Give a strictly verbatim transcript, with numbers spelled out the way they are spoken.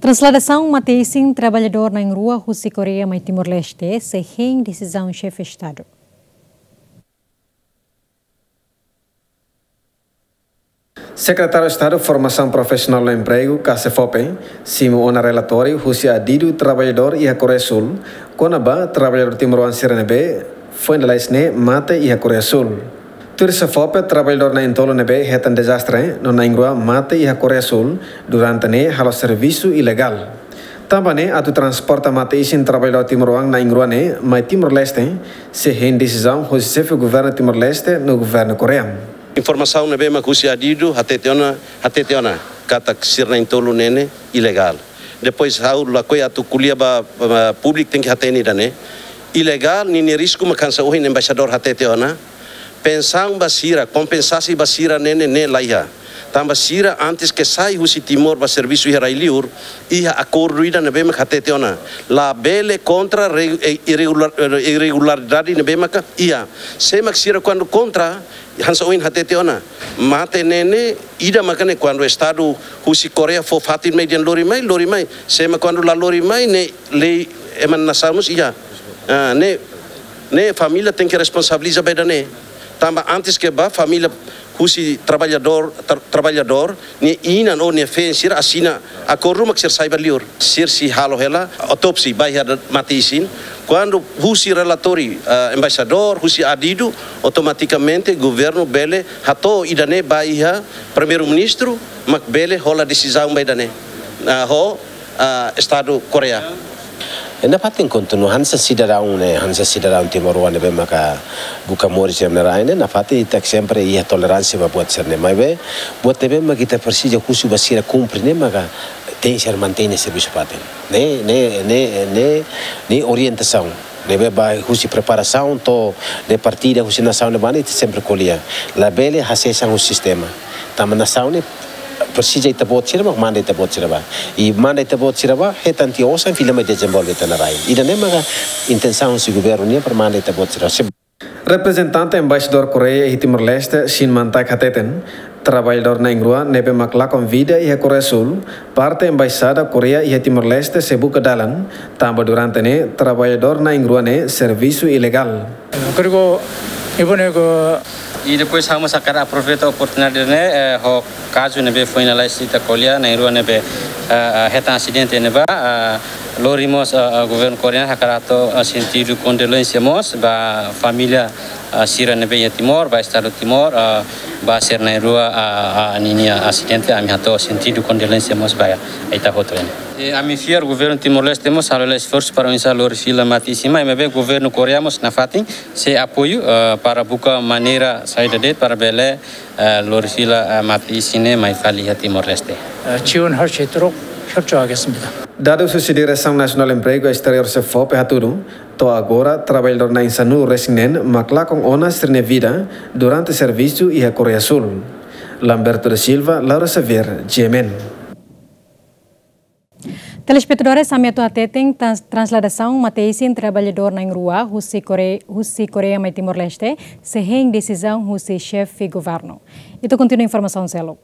Transladasaun mate-isin traballadór na'in-rua husi Koreia mai Timor-Leste sei hein desizaun Xefe Estadu. Sekretáriu Estadu Formasaun Profisionál no Empregu, ka SEFOPE, simu ona relatóriu husi adidu traballadór iha Koreia Súl, kona-ba traballadór timoroan sira ne'ebé foin lalais ne'e mate iha Koreia Súl. Tuir SEFOPE, traballadór na'in-tolu ne'ebé hetan dezastre no na'in-rua mate iha Koreia Súl durante ne'e halo servisu ilegál. Tanba ne'e, atu transporta mate-isin traballadór timoroan na'in-rua ne'e mai Timor-Leste, sei hein desizaun hosi Xefe Governu Timor-Leste no Governu Koreia. Informasaun ne'ebé mak husi adidu hatete ona, hatete ona katak sira na'in-tolu ne'e ne'e ilegál. Depois ha'u lakohi atu ko'alia ba, ba públiku, tenke hatene ida-ne'e. Ilegál ninia risku mak hanesan ohin embaixadór hatete ona. Pensaun ba sira, kompensasaun ba sira ne'e ne'e, ne'e laiha. Tanba sira antes ke sai husi Timor ba servisu iha rai-liur, iha akordu ida ne'ebé mak hatete ona. Labele kontra re-, e-, irregular-, e-, irregularidade ne'ebé maka iha. Se mak sira kuandu kontra, hanesan ohin hatete ona. Mate ne'e ne'e, ida maka ne'e kuandu Estadu husi Koreia fó fatin mai dehan lori mai, lori mai. Se mak kuandu la lori mai, ne'e lei ema nia nasaun mós iha. Ah, ne'e, ne'e família tenke responsabiliza ba ida-ne'e. Tanba antes ke bá, família husi traballadór, tra-, traballadór, nia inan ou nia feen sira asina akordu mak sira sai ba liur. Sira sei halo hela autópsia ba iha mate-isin. Kuandu husi relatóriu, ah, embaixadór, husi adidu, automatikamente governu bele hato'o ida-ne'e ba iha Primeiru-Ministru, mak bele hola desizaun ba ida-ne'e. Ah, ho, ah, Estadu Koreia. E nafatin kontinua hanesan sidadaun ne'e, hanesan sidadaun timoroan ne'ebé maka buka moris iha rai ne'e, nafatin ita sempre iha toleránsia ba buat sira-ne'e. Maibé, buat ne'ebé maka ita presiza husu ba sira kumpre ne'e maka tenke ser mantein servisu fatin. Ne'e, ne'e, ne'e, ne'e, ne'e orientasaun. Ne'ebé ba husi preparasaun to'o ne'e partida husi nasaun ne'ebá ne'e ita sempre ko'alia. Labele hasees an husi sistema. Tanba nasaun ne'e presiza ita-boot sira mak manda ita-boot sira bá. I manda ita-boot sira bá, hetan tiha osan fila mai dezenvolve ita-nia rai. Ida-ne'e maka intensaun husi governu nian para manda ita-boot sira bá. Reprezentante Embaixadór Koreia iha Timor-Leste, Shin Man-taek hateten, traballadór na'in-rua ne'ebé mak lakon vida iha Koreia Súl, parte Embaixada Koreia iha Timor-Leste sei buka dalan, tanba durante ne'e traballadór na'in-rua ne'e servisu ilegál. 그리고 이번에 그 I depois ha'u mós hakarak aproveita oportunidade ne'e, eh, ho kazu ne'ebé foin lalais ita ko'alia, na'in-rua ne'ebé, eh, eh, hetan asidente ne'ebá, eh, lori mós, eh, eh, governu Koreia hakarak hato'o, eh, sentidu kondolénsia mós ba família, eh, sira ne'ebé iha Timor, ba Estadu Timor, eh, ba sira na'in-rua, eh, eh, ninia asidente, ami hato'o sentidu kondolénsia mós ba ita hotu ne'e. I ami fiar governu Timor-Leste mós halo hela esforsu para oinsá lori fila mate-isin mai, maibé governu Koreia mós nafatin sei apoiu, eh, para buka maneira saida de'it para bele, eh, lori fila, eh, mate-isin ne'e mai fali iha Timor-Leste. 어, 지원할 수 있도록 협조하겠습니다. Dadus husi Diresaun Nasionál Empregu Esteriór, SEFOPE, hatudu, to'o agora traballadór na'in-sanulu resin neen mak lakon ona sira-nia vida durante servisu iha Koreia Súl. Lamberto da Silva, Laura Xavier, G M N. Telespetadores, ami atu hateten, trans-, transladasaun mate-isin traballadór na'in-rua husi Kore-, husi Koreia mai Timor-Leste sei hein desizaun husi Xefe Governu. Ita kontinua informasaun seluk.